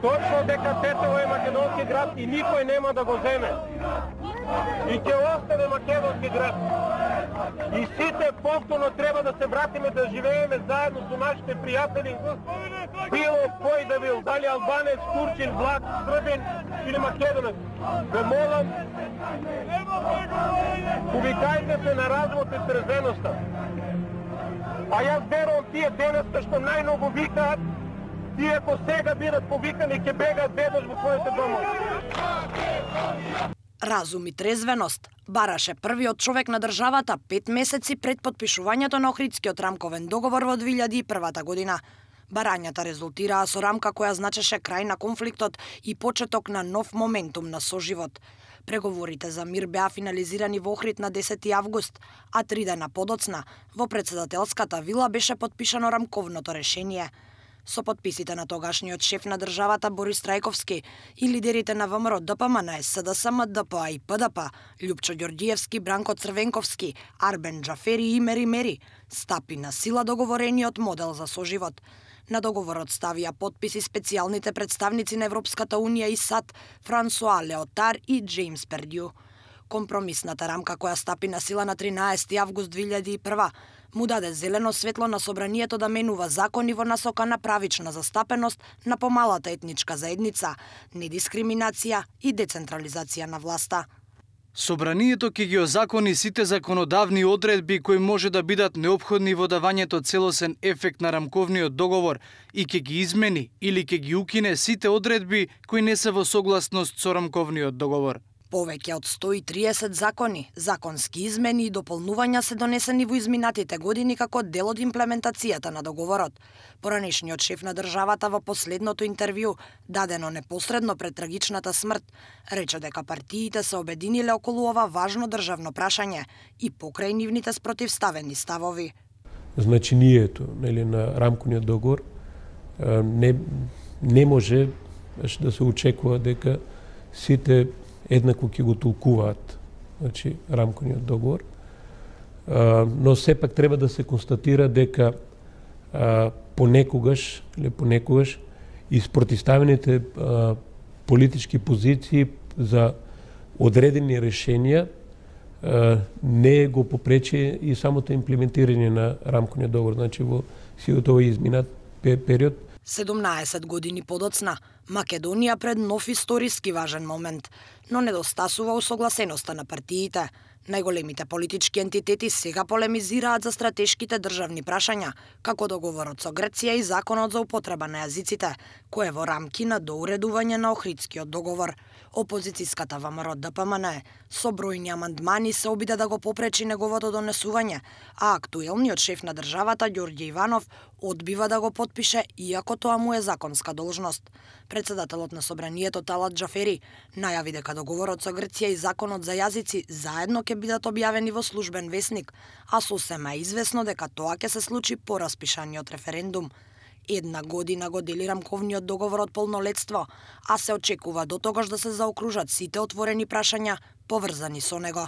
Точно дека Тетово е македонски град и никој нема да го земе. И ќе остане македонски град. И сите повторно треба да се вратиме да живееме заедно со нашите пријатели. Било кој да бил, дали албанец, турчин, влак, србин или македонец. Ве молам, повикајте се на развод и трезвеноста. А јас верувам тие денеска што најмногу викаат, тие ако сега бидат повикани ќе бегаат бедош во своите домови. Разум и трезвеност бараше првиот човек на државата 5 месеци пред подпишувањето на Охридскиот рамковен договор во 2001 година. Барањата резултираа со рамка која значеше крај на конфликтот и почеток на нов моментум на соживот. Преговорите за мир беа финализирани во Охрид на 10 август, а 3 дена подоцна во председателската вила беше подпишано рамковното решение. Со подписите на тогашниот шеф на државата Борис Трајковски и лидерите на ВМРО, ДПМН, СДСМ, ДПА и ПДП, Љупчо Ѓорѓиевски, Бранко Црвенковски, Арбен Џафери и Мери Мери, стапи на сила договорениот модел за соживот. На договорот ставија подписи специјалните представници на Европската Унија и САД Франсуа Леотар и Джеймс Пердју. Компромисната рамка која стапи на сила на 13 август 2001 му даде зелено светло на собранието да менува закони во насока на правична застапеност на помалата етничка заедница, недискриминација и децентрализација на власта. Собранието ќе ги озакони сите законодавни одредби кои може да бидат неопходни во давањето целосен ефект на рамковниот договор и ќе ги измени или ќе ги укине сите одредби кои не се во согласност со рамковниот договор. Повеќе од 130 закони, законски измени и дополнувања се донесени во изминатите години како дел од имплементацијата на договорот. Поранешниот шеф на државата во последното интервју, дадено непосредно пред трагичната смрт, рече дека партиите се обединиле околу ова важно државно прашање и покрај нивните спротивставени ставови. Значението на рамковниот договор не може да се очекува дека сите еднакво ќе го толкуваат, рамковниот договор, но сепак треба да се констатира дека понекогаш и спротивставените политички позиции за одредени решенија не го попречи и самото имплементирање на рамковниот договор, во силот овој изминат период. 17 години подоцна, Македонија пред нов историски важен момент, но недостасува усогласеноста на партиите. Најголемите политички ентитети сега полемизираат за стратешките државни прашања, како договорот со Грција и законот за употреба на јазиците, кој е во рамки на доуредување на Охридскиот договор. Опозицијската ВМРО ДПМН со бројни амандмани се обиде да го попречи неговото донесување, а актуелниот шеф на државата Ѓорѓе Иванов одбива да го потпише, иако тоа му е законска должност. Председателот на собранието Талат Џафери најави дека договорот со Грција и законот за јазици заедно ќе бидат објавени во службен весник, а сосема е известно дека тоа ќе се случи по распишаниот референдум. 1 година го дели рамковниот договор од полнолетство, а се очекува до тогаш да се заокружат сите отворени прашања поврзани со него.